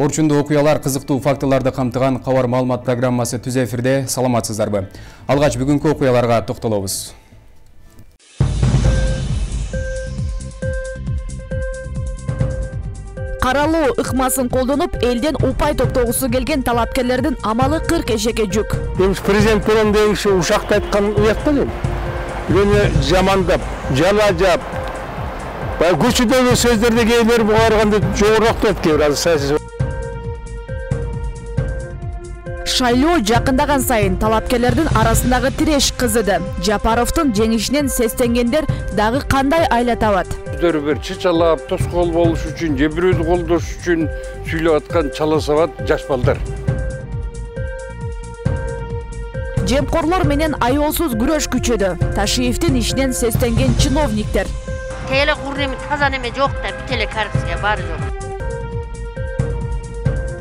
Орчундуу окуялар, кызыктуу фактыларды камтыган кабар маалымат программасы түз эфирде. Саламатсыздарбы? Алгач бүгүнкү окуяларга токтолобуз. Каралуу ыкмасын колдонуп, элден упай топтогусу келген талапкерлердин амалы 40 эшекке жүк. Президент менен дегиши ушакта айткан уят белем. Мени жамандап, жалажап, көчүдөгү сөздөрдү кейбир бугарганды жогорок деп кейбир саясий. Шайлоо жакындаган сайын талапкерлердин арасындагы тиреш кызыды. Жапаровдун жеңишинен сестенгендер дагы кандай айла табат? Өздөрү бир чычалап, тоскоол болуш үчүн, же бирөөнү колдош үчүн сүйлөп аткан чала сабат жаш балдар. Жемкорлор менен аеолсуз күрөш күчөдү. Ташиевдин ишинен сестенген чиновниктер. Теле курнеме таза неме жок да, бителе коррупция бары жок.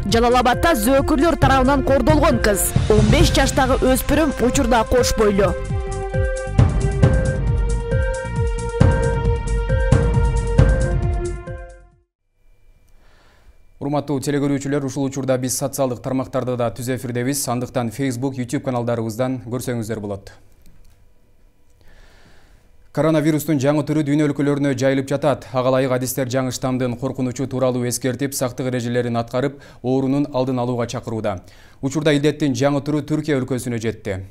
Жалал-Абадда зөөкүрлөр тарабынан кордолгон кыз. 15 жаштагы өспүрүм учурда кош бойлуу. Урматтуу телекөрүүчүлөр, ушул учурда биз социалдык тармактарда да түз эфирдебиз. Андыктан Facebook, YouTube каналдарыбыздан көрсөңүздөр болот. Коронавирустун жаңы түрү дүйнө өлкөлөрүнө жайылып жатат. Ага ылайык адистер жаңы штамдын коркунучу тууралуу эскертип, сактык эрежелерин аткарып, оорунун алдын алууга чакырууда. Учурда илдеттин жаңы түрү Түркия өлкөсүнө жетти.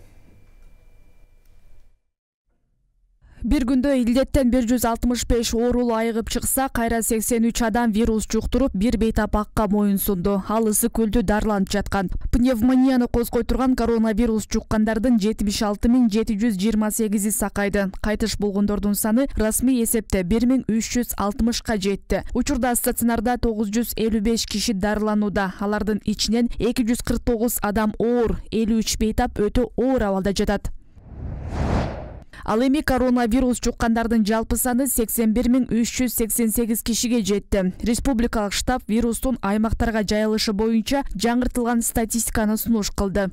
Bir күндө илдеттен 165 оорулуу айыгып чыкса, кайра 83 адам вирус жуктуруп, бир бейтапакка моюн сунду. Ал ысык көлдү дарланып жаткан. Пневмонияны козгой турган коронавирус жуккандардын 76.728 сакайды. Кайтыш болгондордун саны расмий эсепте 1360ка жетти. Учурда стационарда 955 киши дарыланууда. Алардын ичинен 249 адам оор, 53 бейтап өтө оор абалда жатат. Ал эми коронавирус жуккандардын жалпы саны 81.388 кишиге жетти. Республикалык штаб вирустун аймактарга жайылышы боюнча жаңыртылган статистиканы сунуш кылды.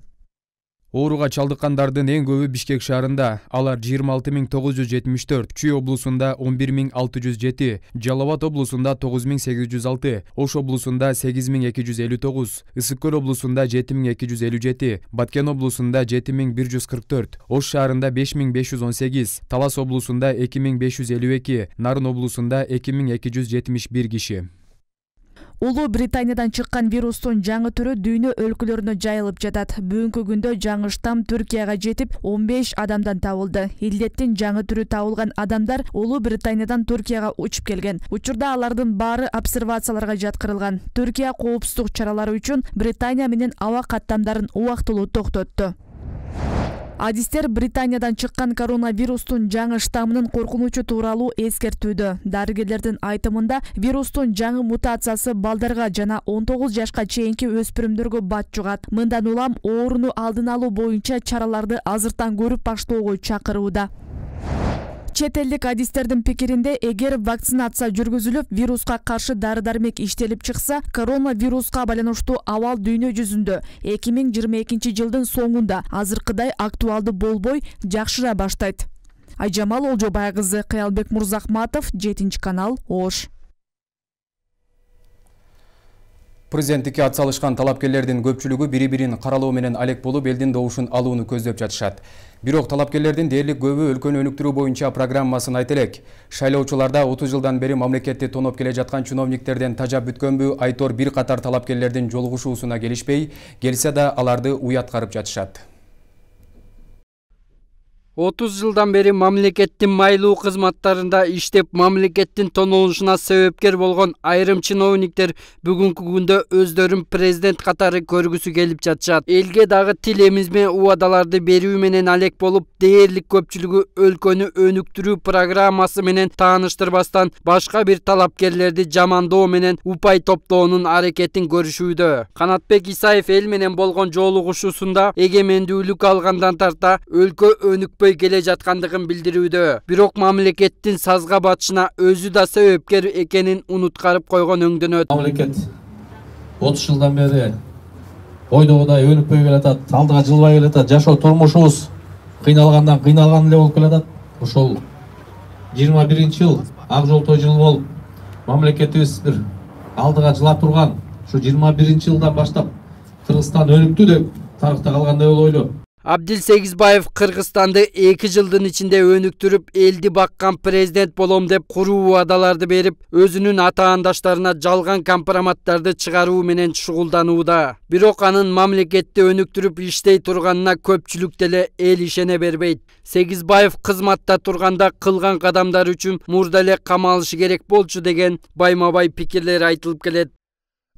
Ооруга чалдыккандардын эң көбү Бишкек шаарында, алар 26.974, Чүй облусунда 11.607, Жалал-Абад облусунда 9.806, Ош облусунда 8.259, Ысык Көл облусунда 7.257, Баткен облусунда 7.144, Ош шаарында 5.518, Талас облусунда 2.552, Нарын облусунда 2.271 киши. Улуу Британиядан чыккан вирустун жаңы түрү дүйнө өлкөлөрүнө жайылып жатат. Бүгүнкү күндө жаңы штам Түркияга жетип, 15 адамдан табылды. Илдеттин жаңы түрү табылган адамдар Улуу Британиядан Түркияга учуп келген. Учурда алардын баары обсервацияларга жаткырылган. Түркия коопсуздук чаралары үчүн Британия менен аба каттамдарын убактылуу токтотту. Адистер Британиядан чыккан коронавирустун жаңы штаммынын коркунучу тууралуу эскертүүдө. Дарыгерлердин айтымында вирустун жаңы мутациясы балдарга жана 19 жашка чейинки өспүрүмдөргө бат жугат. Мындан улам ооруну алдын алуу боюнча чараларды азыртан көрүп баштоого чакырууда. Чет элдик адистердин пикиринде, эгер вакцинация жүргүзүлүп, вируска каршы дары-дармек иштелип чыкса, коронавируска байланыштуу абал дүйнө жүзүндө 2022 жылдын соңунда азыркыдай актуалдуу болбой, жакшыра баштайт. Айжамал Олжобай кызы, Кыялбек Мурзахматов, 7 канал, Ош. Президенттикке атсалышкан талапкерлердин көпчүлүгү бири-бирин каралоо менен алек болуп, элдин добушун алууну көздөп жатышат. Бирок талапкерлердин дээрлик көбү өлкөнү өнүктүрүү боюнча программасын айта элек. Шайлоочуларда 30 жылдан бери мамлекетти тоноп келе жаткан чиновниктерден тажап бүткөнбү, Айтор бир катар талапкерлердин жолугушуусуна келишпей, келсе да аларды уяткарып жатышат. 30 жылдан бери мамлекеттин майлуу кызматтарында иштеп, мамлекеттин тонолушуна себепкер болгон айрым чиновниктер бүгүнкү күндө өздөрүн президент катары көргүсү келип жатышат. Элге дагы тил эмизме убадаларды берүү менен алек болуп, дээрлик көпчүлүгү өлкөнү өнүктүрүү программасы менен тааныштырбастан, башка бир талапкерлерди жамандоо менен упай топтоонун аракетин көрүшүүдө. Канатбек Исаев эл менен болгон жолугушуусунда эгемендүүлүк алгандан тарта өлкө өнүкпөй келе жаткандыгын билдирүүдө. Бирок мамлекеттин сазга батышына өзү да себепкер экенин унуткарып койгон өңдөнөт. Мамлекет 30 жылдан бери ойдогудай өнүкпөй келатат, алдыга жылбай келатат, жашоо турмушубуз кыйналгандан кыйналган эле болуп келатат. Ошол 21-жыл ак жол той жылы болуп, мамлекетибиз бир алдыга жылап турган Ушу 21-жылдан баштап Кыргызстан өнүктү деп тарыхта калгандай болуп ойлойм. Абдил Сегизбаев Кыргызстанды 2 жылдын ичинде өнүктүрүп, элди баккан президент болом деп куруу убадаларды берип, өзүнүн атаандаштарына жалган компроматтарды чыгаруу менен шугулданууда. Бирок анын мамлекетти өнүктүрүп иштей турганына көпчүлүк деле эл ишене бербейт. Сегизбаев кызматта турганда кылган кадамдар үчүн мурда эле камалышы керек болчу деген байма-бай пикирлер айтылып келет.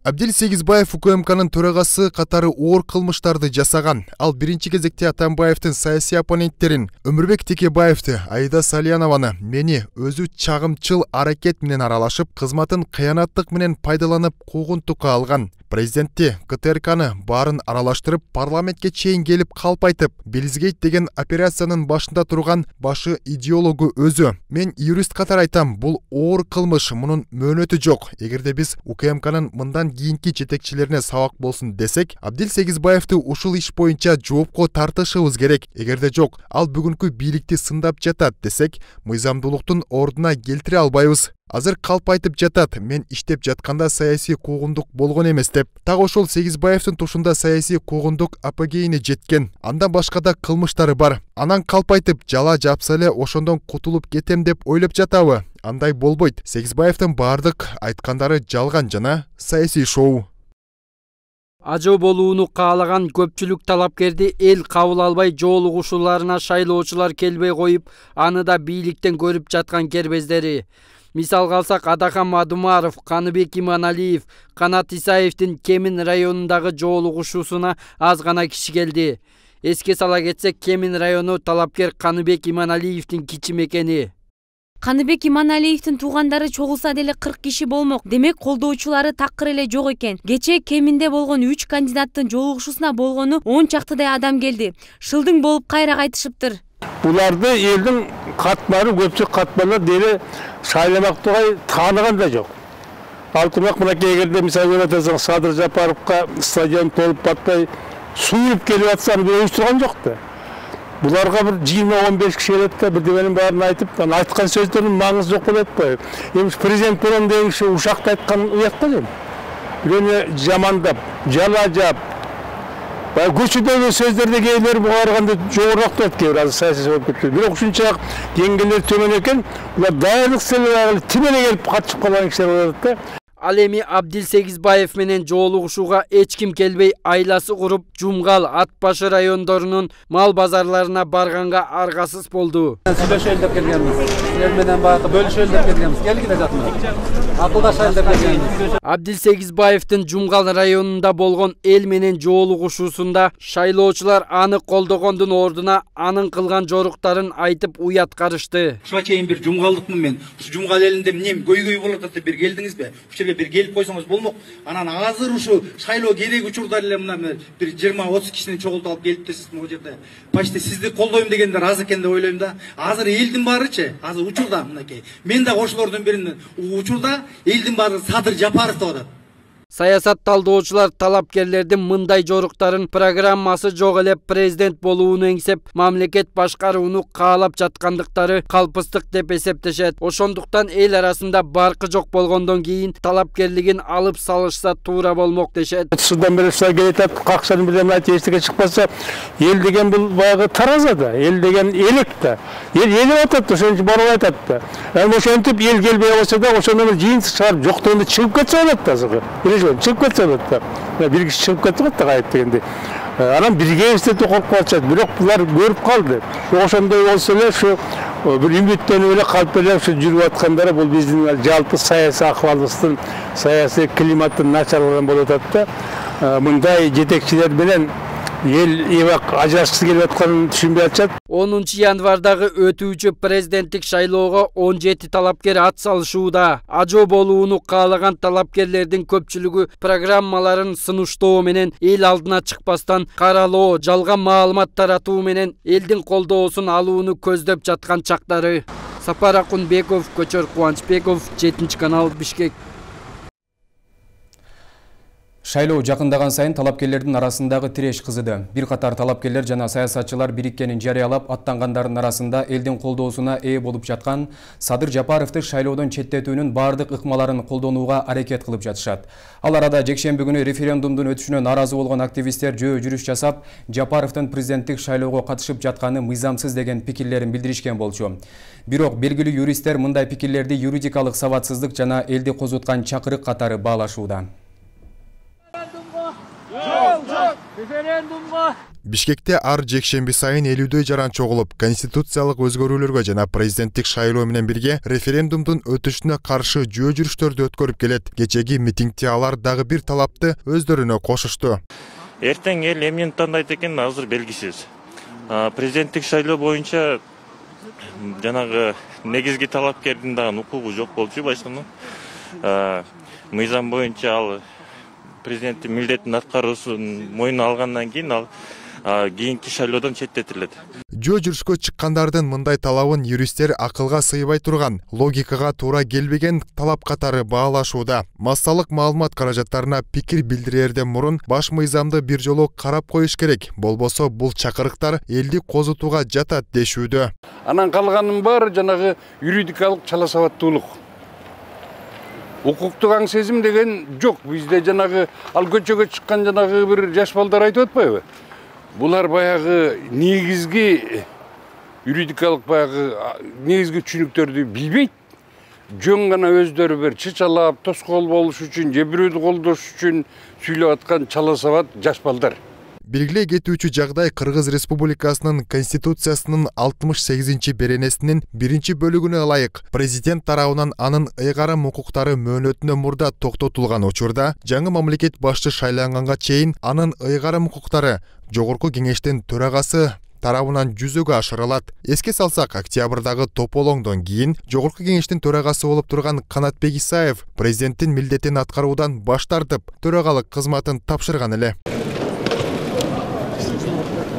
Абдил Сегизбаев УКМКнын төрагасы катары оор кылмыштарды жасаган. Ал биринчи кезекте Атамбаевдин саясий оппоненттерин Өмүрбек Текебаевди, Аида Салиянованы мени өзү чагымчыл аракет менен аралашып, кызматын кыянаттык менен пайдаланып куугунтукка алган. Президентти, КТРКны баарын аралаштырып, парламентке чейин келип калп айтып, Белизгейт деген операциянын башында турган башы идеологу өзү. Мен юрист катары айтам, бул оор кылмыш, мунун мөөнөтү жок. Эгерде биз УКМКнын мындан кийинки жетекчилерине сабак болсун десек, Абдил Сегизбаевди ушул иш боюнча жоопко тартышыбыз керек. Эгерде жок, ал бүгүнкү бийликти сындап жатат десек, мыйзамдуулуктун ордуна келтире албайбыз. Азыр калп айтып жатат, мен иштеп жатканда саясий куугундук болгон эмес деп. Так ошол Сегизбаевдин тушунда саясий куугундук апогейине жеткен. Андан башка да кылмыштары бар. Анан калп айтып, жала жапса эле ошондон кутулуп кетем деп ойлоп жатабы? Андай болбойт. Сегизбаевдин баардык айткандары жалган жана саясий шоу. Ажо болууну каалаган көпчүлүк талапкерди эл кабыл албай, жоолугушууларына шайлоочулар келбей коюп, аны да бийликтен көрүп жаткан кербездери. Мисалга алсак, Адахан Мадумаров, Каныбек Иманалиев, Канат Исаевдин Кемин районундагы жоолугушуусуна аз гана киши келди. Эске сала кетсек, Кемин району талапкер Каныбек Иманалиевдин кичи мекени. Каныбек Иманалиевдин туугандары чогулса деле 40 киши болмок. Демек, колдоочулары такыр эле жок экен. Кечээ Кеминде болгон 3 кандидаттын жоолугушуусуна болгону 10 чактыдай адам келди. Шылдың болуп кайра кайтышыптыр. Буларды элдин катмары, көпчүлүк катмарлар деле шайламак тургай тааныган да жок. Алтымак мынакей эгерде мисалы көрөтсөң Садыр Жапаровго стадион толуп батпай сууп келип атса, аны бир уюштурган жок да. Буларга бир 20-15 киши келет да, бирдеменин баарын айтып, анан айткан сөздөрдүн маңызы жок болуп атпайбы? Эми президент болом деген киши ушакта айткан уят да эми. Бирөөнү жамандап, жалажап, көчөдөгү сөздөрдө кээбир бугарганда жогорураак турат, кээбир азыр саясий болуп кетти. Бирок ушунчалык деңгээлер төмөн экен, булар дайырлык селе тимеле келип катышып калган кишилер болот да. Ал эми Абдил Сегизбаев менен жоолугушууга эч ким келбей, айласы куруп, Жумгал, Ат башы райондорунун мал базарларына барганга аргасыз болду. Сүйлөшөлү деп келгенбиз. Силер менен баягы бөлүшөлү деп келгенбиз. Келгиле жатмыз. Акылдашайлы деп келгенбиз. Абдил Сегизбаевдин Жумгал районунда болгон эл менен жоолугушуусунда шайлоочулар аны колдогондун ордуна анын кылган жоруктарын айтып уят карышты. Ушуга чейин бир жумгалдыкмын мен. Ушу Жумгал элинде эмне көйгөй болуп атат деп бир келдиңизби? Бир келип койсоңуз болмок. Анан азыр ушу шайлоо керек учурда эле мына бир 20-30 кишини чогултуп алып келиптирсиз могу жерде. Почти сизди колдойм дегендер аз экен деп ойлойм да. Азыр элдин баарычы, азыр учурда мынакей. Мен да ошолордун биринин учурда элдин баары Садыр Жапаров деп атат. Саясат талдоочулар талапкерлердин мындай жоруктарын программасы жок эле президент болууну эңсеп, мамлекет башкарууну каалап жаткандыктары калпыстык деп эсептешет. Ошондуктан эл арасында баркы жок болгондон кийин талапкерлигин алып салышса туура болмок дешет. Судан бери келет, какшанын бирден айтып эчтеке чыкпаса, эл деген бул баягы тараза да, эл деген элек да. Эл элеп атат, ошончо барып айтат да. Эми ошентип эл келбей болсо да, ошондон жыйынтык чыгарып жоктогунда чыгып кетсе болот да азыркы. Чыгып кетсе болот да. Бир киши чыгып кетти го да кайып дегенде. Анан бирге эстетип коркуп калышат. Бирок булар көрүп калды. Ошондой болсо эле ушу бир үмүттөнүп эле калып эле ушу жүрүп аткандары бул биздин жалпы саясий акыбалыбыздын, саясий климаттын начарлыгынан болуп атат да. Мындай жетекчилер менен эл эбак ажырашкысы келип атканын түшүнбөй атышат. 10 январдагы өтүүчү президенттик шайлоого 17 талапкер ат салышууда. Ажо болууну каалаган талапкерлердин көпчүлүгү программаларын сынуштоо менен эл алдына чыкпастан каралоо, жалган маалымат таратуу менен элдин колдоосун алууну көздөп жаткан чактары. Сапар Акунбеков, Көчөр Кубанычбеков, 7 канал, Бишкек. Шайлоо жакындаган сайын талапкерлердин арасындагы тиреш кызыды. Бир катар талапкерлер жана саясатчылар бириккенин жарыялап, аттангандардын арасында элдин колдоосуна ээ болуп жаткан Садыр Жапаровду шайлоодон четтетүүнүн бардык ыкмаларын колдонууга аракет кылып жатышат. Ал арада жекшемби күнү референдумдун өтүшүнө нааразы болгон активисттер жөө жүрүш жасап, Жапаровдун президенттик шайлоого катышып жатканы мыйзамсыз деген пикирлерин билдиришкен болчу. Бирок белгилүү юристтер мындай пикирлерди юридикалык сабатсыздык жана элди козуткан чакырык катары баалашууда. Бишкекте ар жекшемби сайын 50дөй жаран чогулуп, конституциялык өзгөрүүлөргө жана президенттик шайлоо менен бирге референдумдун өтүшүнө каршы жөө жүрүштөрдү өткөрүп келет. Кечеги митингде алар дагы бир талапты өздөрүнө кошушту. Эртең эл эмнени тандайт экен азыр белгисиз. Президенттик шайлоо боюнча жанагы негизги талапкердин дагы укугу жок болчу башкынын. Мыйзам боюнча ал президенттин милдетин аткаруусун мойнуна алгандан кийин ал кийинки шайлоодон четтетилет. Жөө жүрүшкө чыккандардын мындай талабын юристтер акылга сыйбай турган, логикага туура келбеген талап катары баалашууда. Массалык маалымат каражаттарына пикир билдирерден мурун баш мыйзамды бир жолу карап коюш керек. Болбосо бул чакырыктар элди козутууга жатат дешүүдө. Анан калганын баары жанагы юридикалык чала сабаттуулук. Укуктук аң сезим деген жок. Бизде жанагы ал көчөгө чыккан жанагы бир жаш балдар айтып атпайбы? Булар баягы негизги юридикалык баягы негизги түшүнүктөрдү билбейт. Жөн гана өздөрү бир чычалап, тоскоол болуш үчүн, же бирөөдү колдош үчүн сүйлөп аткан чала сабат жаш балдар. Белгилей кетүүчү жагдай Кыргыз Республикасынын Конституциясынын 68-беренесинин 1-бөлүгүнө ылайык президент тарабынан анын ыйгарым укуктары мөөнөтүнөн мурда токтотулган учурда жаңы мамлекет башчы шайланганга чейин анын ыйгарым укуктары Жогорку кеңештин төрагасы тарабынан жүзөгө ашырылат. Эске салсак, октябрдагы тополоңдон кийин Жогорку кеңештин төрагасы болуп турган Канатбек Исаев президенттин милдетин аткаруудан баш тартып, төрагалык кызматын тапшырган эле.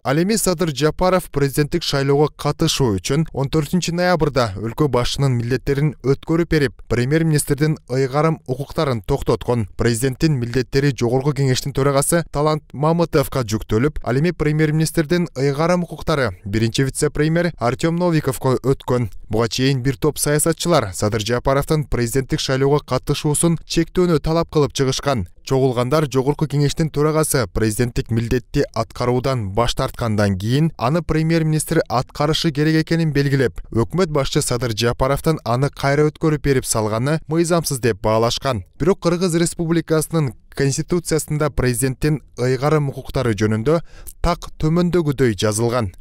Ал эми Садыр Жапаров президенттик шайлоого катышуу үчүн 14 ноябрда өлкө башчынын милдеттерин өткөрүп берип, премьер-министрдин ыйгарым укуктарын токтоткон. Президенттин милдеттери Жогорку кеңештин төрагасы Талант Мамытовго жүктөлүп, ал эми премьер-министрдин ыйгарым укуктары биринчи вице-премьер Артем Новиковго өткөн. Буга чейин бир топ саясатчылар Садыр Жапаровдун президенттик шайлоого катышуусун чектөөнү талап кылып чыгышкан. Чогулгандар Жогорку кеңештин төрагасы президенттик милдетти аткаруудан баш тарткандан кийин аны премьер-министр аткарышы керек экенин белгилеп, өкмөт башчы Садыр Жапаровдун аны кайра өткөрүп берип салганы мыйзамсыз деп баалашкан. Бирок Кыргыз Республикасынын Конституциясында президенттин ыйгарым укуктары жөнүндө так төмөндөгүдөй жазылган.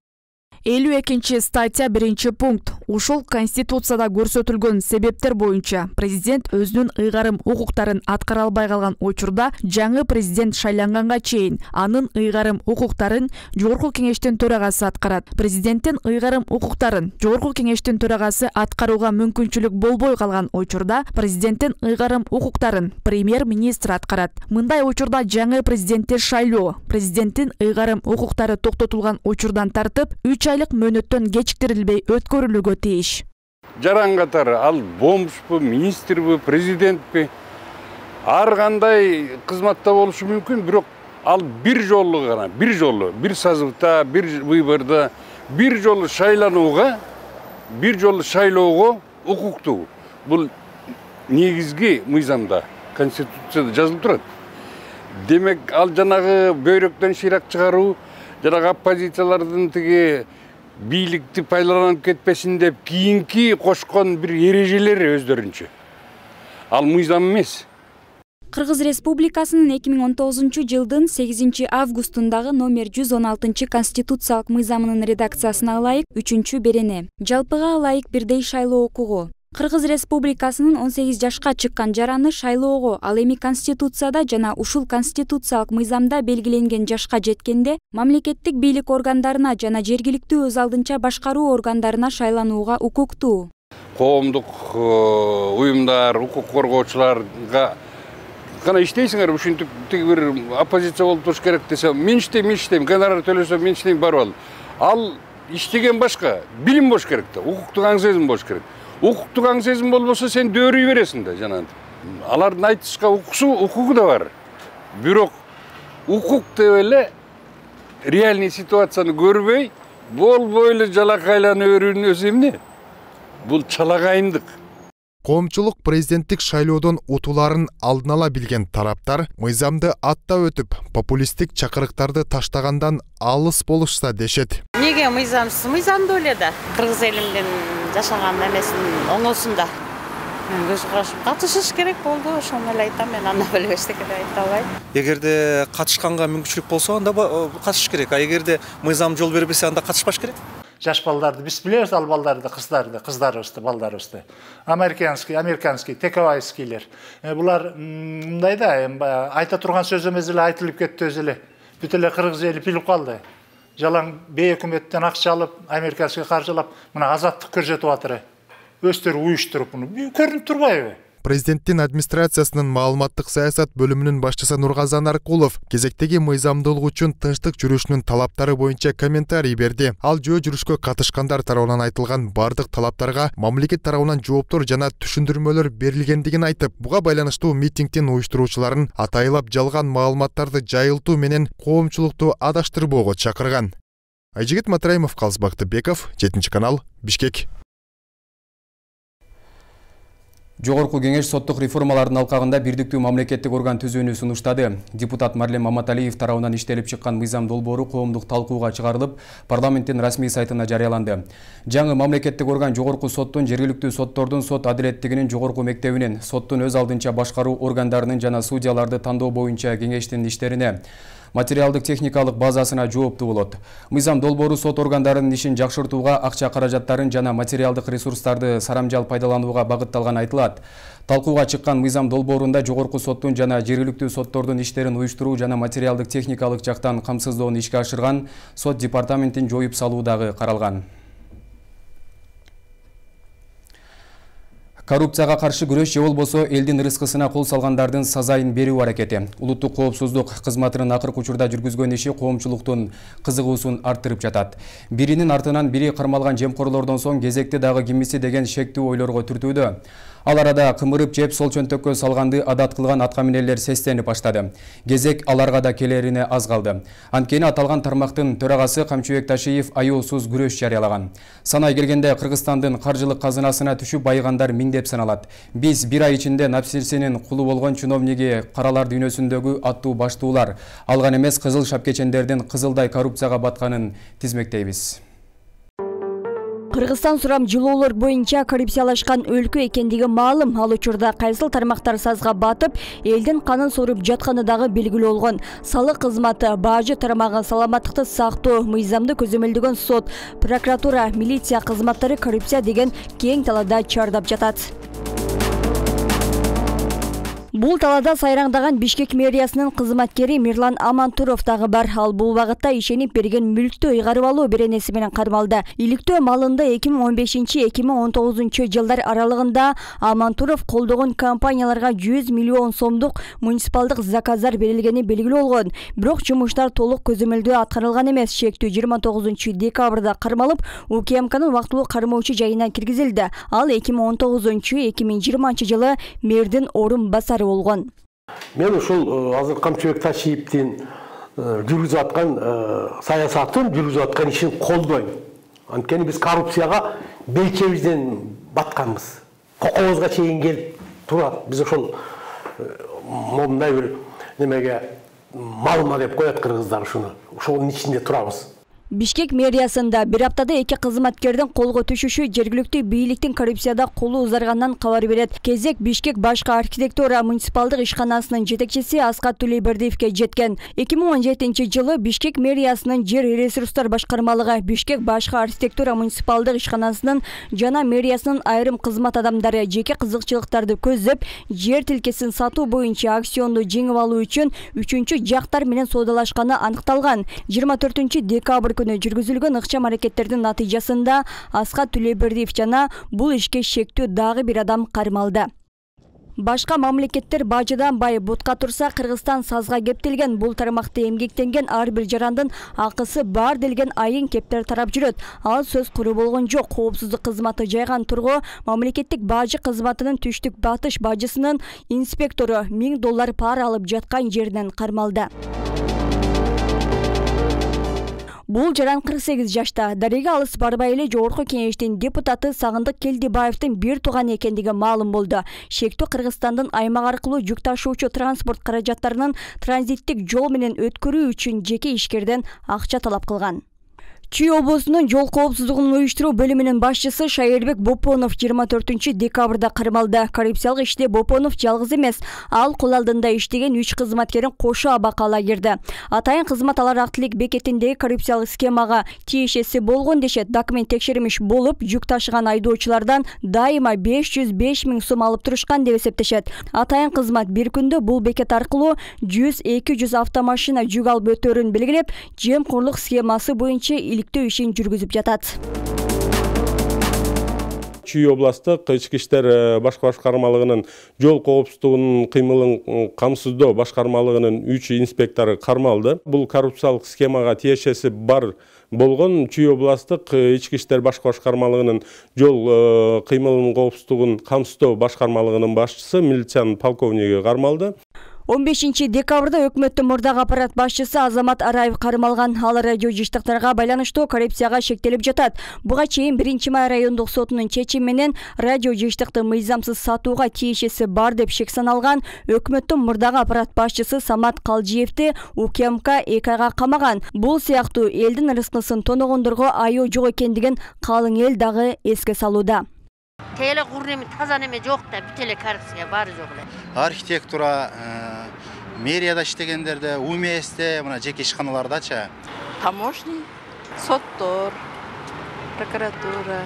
52 статья 1 пункт. Ушул Конституцияда көрсөтүлгөн себептер боюнча президент өзүнүн ыйгарым укуктарын аткара албай калган учурда жаңы президент шайланганга чейин анын ыйгарым укуктарын Жогорку кеңештин төрагасы аткарат. Президенттин ыйгарым укуктарын Жогорку кеңештин төрагасы аткарууга мүмкүнчүлүк болбой калган учурда президенттин ыйгарым укуктарын премьер-министр аткарат. Мындай учурда жаңы президентти шайлоо президенттин ыйгарым укуктары токтотулган учурдан тартып 3 айлык мөөнөттөн кечиктирилбей өткөрүлүүгө тийиш. Жаран катары ал бомжбу, министрбу, президентпи ар кандай кызматта болушу мүмкүн, бирок ал бир жолу гана, бир созывда, бир выборда, бир жолу шайланууга, бир жолу шайлоого укуктуу. Бул негизги мыйзамда, Конституцияда жазылып турат. Демек, ал жанагы бөйрөктөн шыйрак чыгаруу, жанагы оппозициялардын тиги бийликти пайдаланып кетпесин деп кийинки кошкон бир эрежелери өздөрүнчө. Ал мыйзам эмес. Кыргыз Республикасынын 2019 жылдын 8 августундагы номер 116 конституциялык мыйзамынын редакциясына ылайык 3-берене. Жалпыга ылайык бирдей шайлоо укугу. Кыргыз Республикасынын 18 жашка чыккан жараны шайлоого, ал эми Конституцияда жана ушул конституциялык мыйзамда белгиленген жашка жеткенде мамлекеттик бийлик органдарына жана жергиликтүү өз алдынча башкаруу органдарына шайланууга укуктуу. Коомдук уюмдар, укук коргоочуларга кана иштейсиңер, ушинтип бир оппозиция болуп туруш керек десе, мен иштейм, гонорар төлөсөм, мен иштейм, барып ал иштеген башка, билим болуш керек да, укуктук аң сезим болуш керек. Укуктук аң сезим болбосо сен дөөрүй бересиң да, жанагынтип. Алардын айтышка укугу да бар. Бирок укук деп эле реальный ситуацияны көрбөй, болбой эле жалакайланып өрүүнүн өзү эмне? Бул чалагайындык. Коомчулук президенттик шайлоодон утууларын алдын ала билген тараптар мыйзамды аттап өтүп, популисттик чакырыктарды таштагандан алыс болушса дешет. Неге мыйзамсыз? Мыйзамдуу эле да. Кыргыз элимдин жашаган эмесин оңосунда. Мен көз карашым катышыш керек болду, ошону эле айтам. Мен анда эле эчтеке айта албайм. Эгерде катышканга мүмкүнчүлүк болсо, анда катышыш керек. А эгерде мыйзам жол бербесе, анда катышпаш керек. Жаш балдарды биз билебиз, ал балдарды, кыздарыбызды, балдарыбызды. Американский, тековайскийлер. Булар мындай да, айта турган сөз эмес эле айтылып кетти өзү эле. Бүт эле кыргыз эли билип калды. Жалаң бей өкмөттөн акча алып, американский каржылап, мына азаттык көрсөтүп атыр. Өздөрү уюштуруп муну көрүнүп турбайбы? Президенттин администрациясынын маалыматтык саясат бөлүмүнүн башчысы Нургазан Аркулов кезектеги мыйзамдуулук үчүн тынчтык жүрүшүнүн талаптары боюнча комментарий берди. Ал жөө жүрүшкө катышкандар тарабынан айтылган бардык талаптарга мамлекет тарабынан жооптор жана түшүндүрмөлөр берилгендигин айтып, буга байланыштуу митингдин уюштуруучуларын атайылап жалган маалыматтарды жайылтуу менен коомчулукту адаштырбоого чакырган. Айжигит Матраимов, Калыс Бактыбеков, 7 канал, Бишкек. Жогорку кеңеш соттук реформалардын алкагында бирдиктүү мамлекеттик орган түзүүнү сунуштады. Депутат Марлем Маматалиев тарабынан иштелип чыккан мыйзам долбоору коомдук талкууга чыгарылып, парламенттин расмий сайтына жарыяланды. Жаңы мамлекеттик орган жогорку соттун, жергиликтүү соттордун, сот адилеттигинин жогорку мектебинин, соттун өз алдынча башкаруу органдарынын жана судьяларды тандоо боюнча кеңештин иштерине, материалдык техникалык базасына жооптуу болот. Мыйзам долбоору сот органдарынын ишин жакшыртууга, акча каражаттарын жана материалдык ресурстарды сарамжал пайдаланууга багытталган айтылат. Талкууга чыккан мыйзам долбоорунда жогорку соттун жана жергиликтүү соттордун иштерин уюштуруу жана материалдык техникалык жактан камсыздоону ишке ашырган сот департаментин жоюп салуу дагы каралган. Коррупцияга каршы күрөш же болбосо элдин рызкысына кол салгандардын сазайын берүү аракети. Улуттук коопсуздук кызматынын акыркы учурда жүргүзгөн иши коомчулуктун кызыгуусун арттырып жатат. Биринин артынан бири кармалган жемкорлордон соң кезекти дагы кимиси деген шектүү ойлорго түртүүдө. Ал арада кымырып жеп сол чөнтөккө салганды адат кылган аткаминерлер сестенип баштады. Кезек аларга да келерине аз калды. Анткени аталган тармактын төрагасы Камчыбек Ташиев аюусуз күрөш жарыялаган. Санай келгенде Кыргызстандын каржылык казынасына түшүп байыгандар миңдеп саналат. Биз бир ай ичинде напсирсинин кулу болгон чиновниги каралар дүйнөсүндөгү аттуу баштуулар, алган эмес кызыл шапкечендердин кызылдай коррупцияга батканын тизмектейбиз. Кыргызстан сурам жылуулар боюнча коррупциялашкан өлкө экендиги маалым. Ал учурда кайсыл тармактар сазга батып, элдин канын соруп жатканы дагы белгилүү болгон. Салык кызматы, бажы тармагы, саламаттыкты сактоо, мыйзамды көзөмөлдөгөн сот, прокуратура, милиция кызматтары коррупция деген кең талаада чардап жатат. Бул талаада сайраңдаган Бишкек мэриясынын кызматкери Мирлан Амантуров дагы бар. Ал бул багытта ишенип берген мүлктү ыйгарып алуу беренеси менен кармалды. Иликтөө малында 2015-2019 жылдар аралыгында Амантуров колдогон компанияларга 100 миллион сомдук муниципалдык заказдар берилгени белгилүү болгон. Бирок жумуштар толук көзөмөлдөө аткарылган эмес. Шектүү 29 декабрда кармалып, УКМКнын убактылуу кармоочу жайына киргизилди. Ал 2019-2020 жылы мэрдин орун басары болгон. Мен ушул азыр Камчыбек Ташиевдин жүргүзүп аткан саясатын, жүргүзүп аткан ишин колдойм. Анткени биз коррупцияга белчебизден батканбыз. Кокобузга чейин келип турат. Биз ошол момундай бир немеге малма деп коет кыргыздар ушуну. Ошонун ичинде турабыз. Бишкек мэриясында бир аптада 2 кызматкердин колго түшүшү жергиликтүү бийликтин коррупцияда колу узаргандан кабар берет. Кезек Бишкек башкы архитектура муниципалдык ишканасынын жетекчиси Аскат Тулейбердиевке жеткен. 2017 жылы Бишкек мэриясынын жер ресурстар башкармалыгы, Бишкек башкы архитектура муниципалдык ишканасынын жана мэриясынын айрым кызмат адамдары жеке кызыкчылыктарды көздөп, жер тилкесин сатуу боюнча акционду жеңип алуу үчүн үчүнчү жактар менен соодалашканы аныкталган. 24 декабрь күнү жүргүзүлгөн ыкчам аракеттердин натыйжасында Аскат Тулейбердиев жана бул ишке шектүү дагы бир адам кармалды. Башка мамлекеттер бажыдан бай бутка турса, Кыргызстан сазга кептелген. Бул тармакта эмгектенген ар бир жарандын акысы бар делген айын кептер тарап жүрөт. Ал сөз куру болгон жок. Коопсуздук кызматы жайган тургу мамлекеттик бажы кызматынын түштүк батыш бажысынын инспектору $1000 пара алып жаткан жеринен кармалды. Бул жаран 48 жашта. Дареге алыс барбай эле Жогорку Кеңештин депутаты Сагындык Келдибаевдин бир тууган экендиги маалым болду. Шектүү Кыргызстандын аймак аркылуу жүк ташуучу транспорт каражаттарынын транзиттик жол менен өткөрүү үчүн жеке ишкерден акча талап кылган. Чүй облусунун жол коопсуздугун уюштуруу бөлүмүнүн башчысы Шайырбек Бопонов 24 декабрда кармалды. Коррупциялык иште Бопонов жалгыз эмес, ал кол алдында иштеген 3 кызматкерин кошо абакка ала кирди. Атайын кызмат алар актылык бекетиндеги коррупциялык схемага тиешеси болгон дешет. Документ текшерилмиш болуп, жүк ташыган айдоочулардан дайыма 505 000 сом алып турушкан деп эсептешет. Атайын кызмат бир күндө бул бекет аркылуу 100-200 автомашина жүк алып өтөөрүн белгилеп, жемкорлук схемасы боюнча иликтөө ишин жүргүзүп жатат. Чүй областык ички иштер башкармалыгынын жол коопсуздугунун кыймылын камсыздоо башкармалыгынын 3 инспектору кармалды. Бул коррупциялык схемага тиешеси бар болгон Чүй областык ички иштер башкармалыгынын жол кыймылынын коопсуздугун камсыздоо башкармалыгынын башчысы милициянын полковниги кармалды. 15 декабрда өкмөттүн мурдагы аппарат башчысы Азамат Араев кармалган. Ал радио жыштыктарга байланыштуу коррупцияга шектелип жатат. Буга чейин 1-май райондук сотунун чечими менен радио жыштыкты мыйзамсыз сатууга тиешеси бар деп шек саналган. Өкмөттүн мурдагы аппарат башчысы Самат Калжиевди УКМК 2 айга камаган. Бул сыяктуу элдин рызкысын тоногондорго айоо жок экендигин калың эл дагы эске салууда. Теле курнеме таза неме жок да, бүтеле коррупция бары жок эле. Архитектура, мэрияда иштегендерде, УМСте, мына жеке ишканалардачы. Таможня, соттор, прокуратура.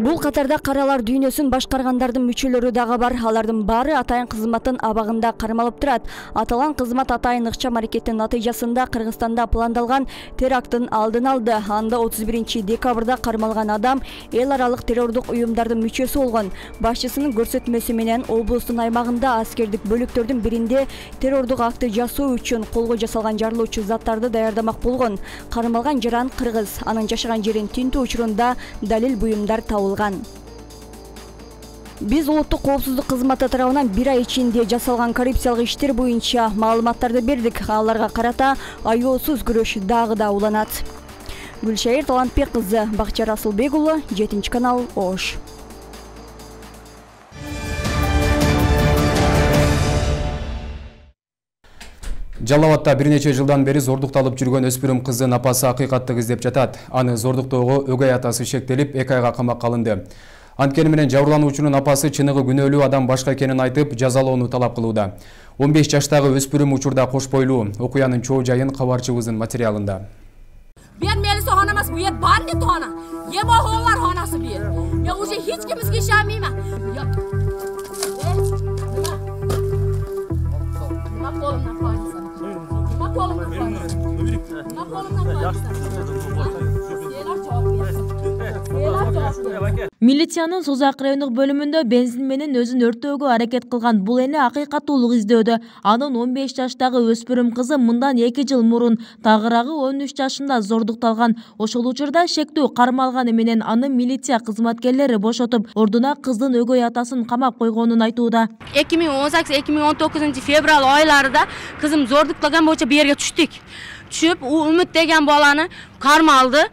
Бул катарда каралар дүйнөсүн башкаргандардын мүчөлөрү дагы бар. Алардын баары атайын кызматтын абагында кармалып турат. Аталган кызмат атайын ыкчам аракеттин натыйжасында Кыргызстанда пландалган теракттын алдын алды. Анда 31 декабрда кармалган адам эл аралык террордук уюмдардын мүчөсү болгон. Башчысынын көрсөтмөсү менен облустун аймагында аскердик бөлүктөрдүн биринде террордук акты жасоо үчүн колго жасалган жарылуучу заттарды даярдамак болгон. Кармалган жаран кыргыз. Анын жашаган жерин тинтүү учурунда далил буюмдар табылган. Биз улуттук коопсуздук кызматы тарабынан 1 ай ичинде жасалган коррупциялык иштер боюнча маалыматтарды бердик. Аларга карата аеосуз күрөш дагы да уланат. Гүлшайыр Талантбек кызы, Бакчар Асылбек уулу, 7-канал, Ош. Жалал Абадта бир нече жылдан бери зордукталып жүргөн өспүрүм кыздын апасы акыйкаттык издеп жатат. Аны зордуктоого өгөй атасы шектелип, 2 айга камакка алынды. Анткени менен жабырлануучунун апасы чыныгы күнөөлүү адам башка экенин айтып, жазалоону талап кылууда. 15 жаштагы өспүрүм учурда кош бойлуу. Окуянын чоо жайын кабарчыбыздын материалында. Ben Melisa hanımız bu yer bandit hana. Yema hoğlar hanası bir. Ya уже hiç kimizge işemeyim ha. Ya. Bak kolumdan koyarsan. Bak kolumdan koyarsan. Bak kolumdan koyarsan. Милициянын Созак райондук бөлүмүндө бензин менен өзүн өрттөөгө аракет кылган бул эне акыйкаттуулук издөдө. Анын 15 жаштагы өспүрүм кызы мындан 2 жыл мурун тагыраагы 13 жашында зордукталган. Ошол учурда шектүү кармалганы менен аны милиция кызматкерлери бошотуп, ордуна кыздын өгөй атасын камап койгонун айтууда. 2018-2019 февраль айларында кызым зордукталган боюнча бу жерге түштүк. Түшүп, Үмүт деген баланы кармалды.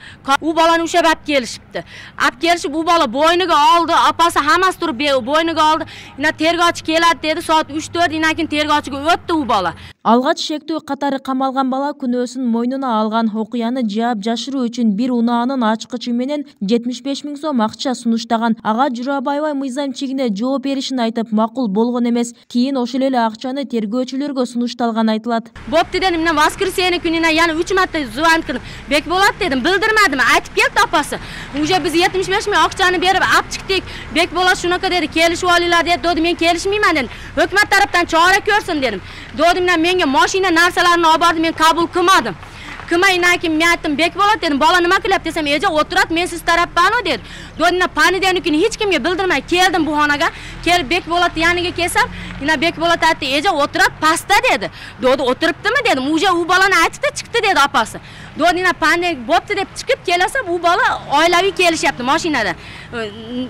У баланы ушеп алып келишипти. Алып келишип, у бала бойнуга алды, апасы хамасы туруп бойнуга алды. Ина тергөөчү келет деди, саат 3-4 инан кийин тергөөчүгө өттү у бала. Алгач шектүү катары камалган бала күнөөсүн мойнуна алган. Окуяны жаап жашыруу үчүн бир унаанын ачкычы менен 75 000 сом акча сунуштаган. Ага жүрөп аябай мыйзам чегине жооп беришин айтып, макул болгон эмес. Кийин ошол эле акчаны тергөөчүлөргө сунушталган айтылат. Бопты дедим, мен воскресенье күнүнө яна 3 марта звонок кылдым. Бек болот дедим, билдирмедим. Айтып келди апасы. Уже биз 75 000 акчаны берип алып чыктык. Бек болот шунака деди, келишип алыйлар деди. Додум, мен келишмеймин дедим. Өкмөт тараптан чара көрсүн дедим. Додум, менге машина нарсаларын алып барды, мен кабыл кылмадым. Кымай инан кийин мен айттым, Бек болот дедим. Бала нема кылып десем, эже отурат, мен сиз тараппаны дедим. Додина понедельникүнү эч кимге билдирмей келдим буханага. Келип Бекболот яныга келсем, ина Бекболот айтты, "Эже отурат паста" деди. Доду отуруптуму дедим. Уже у баланы айтып да чыкты деди апасы. Додина понедельник бопту деп чыгып келесем, у бала oilaviy kelishapti машинада.